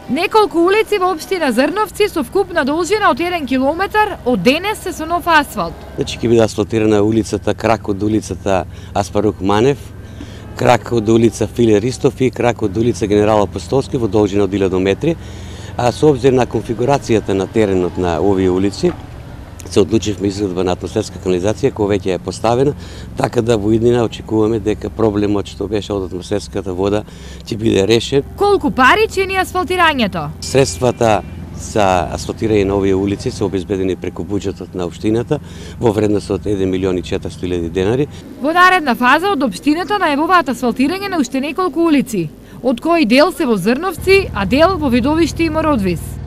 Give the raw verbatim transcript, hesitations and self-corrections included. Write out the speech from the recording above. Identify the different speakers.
Speaker 1: Неколку улици во општина Зрновци со вкупна должина од еден километар од денес се со нов асфалт.
Speaker 2: Значи ќе биде асфалтирана улицата крак од улицата Аспарук Манев, крак од улица Филе Ристов и крак од улица Генерал Апостолски во должина од илјада метри. А со обзир на конфигурацијата на теренот на овие улици, се одлучивме изградба на атмосферска канализација која веќе е поставена, така да во иднина очекуваме дека проблемот што беше од атмосферската вода ќе биде решен.
Speaker 1: Колку пари чини асфалтирањето?
Speaker 2: Средствата за асфалтирање на овие улици се обезбедени преку буџетот на општината во вредност од еден милион и четиристотини илјади денари.
Speaker 1: Во наредна фаза од општината најавуваат асфалтирање на уште неколку улици, од кои дел се во Зрновци, а дел во Видовиште и Мородвис.